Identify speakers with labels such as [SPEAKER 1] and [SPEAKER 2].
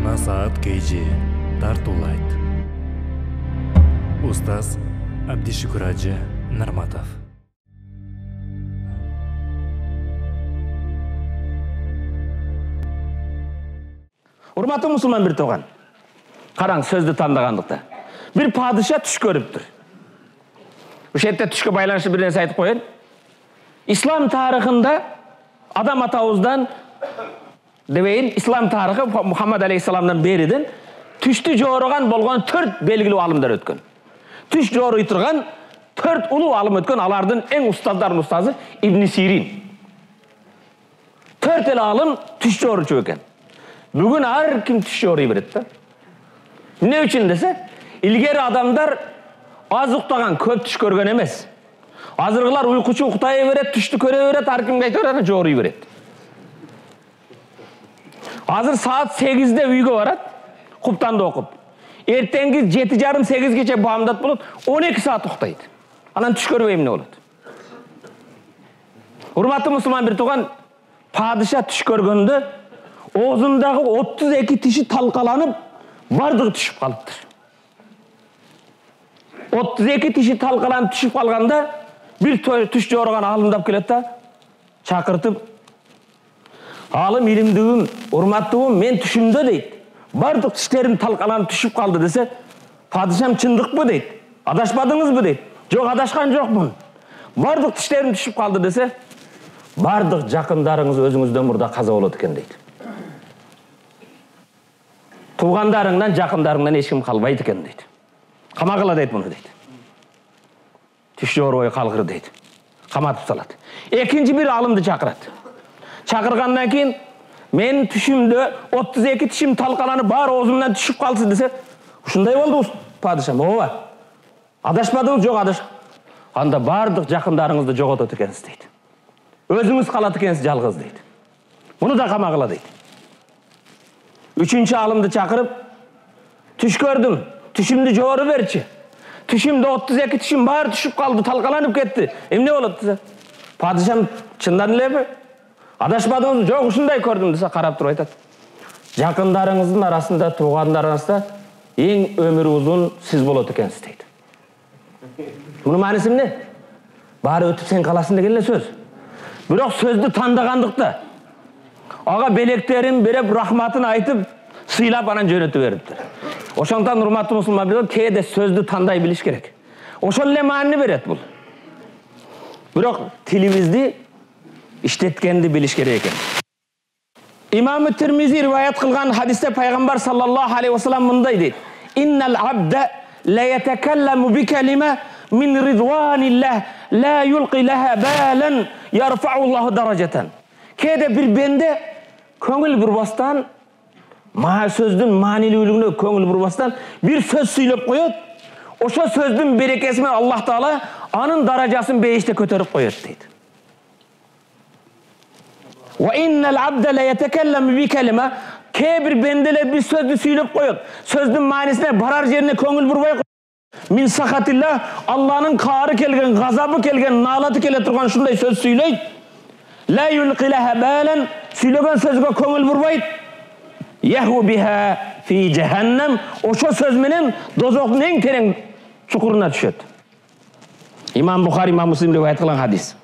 [SPEAKER 1] Насаат KG тартуулайт. Устаз Абдишукур Ажы Нарматов.
[SPEAKER 2] Урматтуу мусулман бир тууган. Караң, сөздү тандагандыкта. Бир падыша түш көрүптүр. Ошол жерде түшкө байланыштуу бир нерсе айтып коеюн. Ислам тарыхында адам атабыздан дебейин, ислам тарыхы Мухаммад алейхиссаламдан бериден түштү жоороган болгон 4 белгилүү алымдар өткөн. Түш жоорой турган 4 улуу алым өткөн, алардын эң устаздардын устазы Ибн Сирин. 4 эле алым түш жооручу экен. Бүгүн ар ким түш жоорой берет да. Эмне үчүн десе, илгери адамдар аз уктаган, көп түш көргөн эмес. Азыркылар уйкучу уктай берет, түштү көрө берет, ар кимге айта берет, жоорой берет. Азыр саат 8-де үйгө барат, куптанды окуп. Эртеңки 7:30-8-гече баамдат болот, 12 саат уктайт. Анан түш көрбөй эмне болот? Урматтуу мусулман бир тууган, падыша түш көргөндө оозундагы 32 тиши талкаланып, бардыгы түшүп калыптыр. 32 тиши талкаланып түшүп калганда, бир түш жоороган алымдап келет да, чакыртып, алым илимдүүм, урматтуум, мен түшүмдө дейт. Бардык тиштерим талкаланып түшүп калды десе, падышам чындыкпы дейт. Адашпадыңызбы дейт. Жок, адашкан жокмун. Бардык тиштерим түшүп калды десе, бардык жакындарыңыз өзүңүздөн мурда каза болот экен дейт. Туугандарыңдан, жакындарыңдан эч ким калбайт экен дейт. Камагыла дейт муну дейт. Түш жоорбой калгыр дейт. Каматып салат. Экинчи бир алымды чакырат. Чакыргандан кийин мен түшүмдө 32 тишим талкаланып бар оозумдан түшүп калсы десе, ушундай болду падышам. Ооба. Адашпадыңыз? Жок, адаш. Анда бардык жакындарыңызды жоготот экенсиз дейт. Өзүңүз калат экенсиз жалгыз дейт. Муну да камагыла дейт. Үчүнчү алымды чакырып, түш көрдүм, түшүмдү жоору берчи. Түшүмдө 32 тишим баары түшүп калды, талкаланып кетти. Эмне болот десе, падышам чындан элеби? Адашпадыңыз? Жок, ушундай көрдүм десе, карап туруп айтат. Жакындарыңыздын арасында, туугандар арасында эң өмүрү узун сиз болот экенсиз дейт. Мунун мааниси эмне? Баары өтүп сен каласың деген эле сөз. Бирок сөздү тандагандыкта ага белектерин берип, рахматын айтып, сыйлап анан жөнөтүп бериптир. Ошондон урматтуу мусулман билет, кээде сөздү тандай билиш керек. Ошол эле маани берет бул. Бирок тилибизди иштеткенди билиш керек экен. Имам Тирмизи риваят кылган хадисте пайгамбар саллаллаху алейхи вассалам мындай дейт: "Иннал абда ла ятакалламу би калима мин ридванилlah ла юлqi laha balan yarfa'u Allahu darajatan." Кээде бир бенде көңүл бурбастан, сөздүн маанилүүлүгүнө көңүл бурбастан бир сөз сүйлөп коет. Ошо сөздүн берекеси менен Аллах Таала анын даражасын бейиште көтөрүп коет дейт. Wa innal abda la yatakallamu bi kalima, кээ бир бенделер бир сөздү сүйлөп коет. Сөздүн маанисине барар жерине көңүл бурбай коет. Мин сахатилlah, Алланын каары келген, газабы келген, наалаты келе турган ушундай сөз сүйлөйт. La yulqi laha balan, сүйлөгөн сөзгө көңүл бурбайт. Yahu biha fi jahannam, ошо сөз менен дозоктун эң терең чукуруна түшөт. Имам Бухари, Имам Муслим риваят кылган хадис.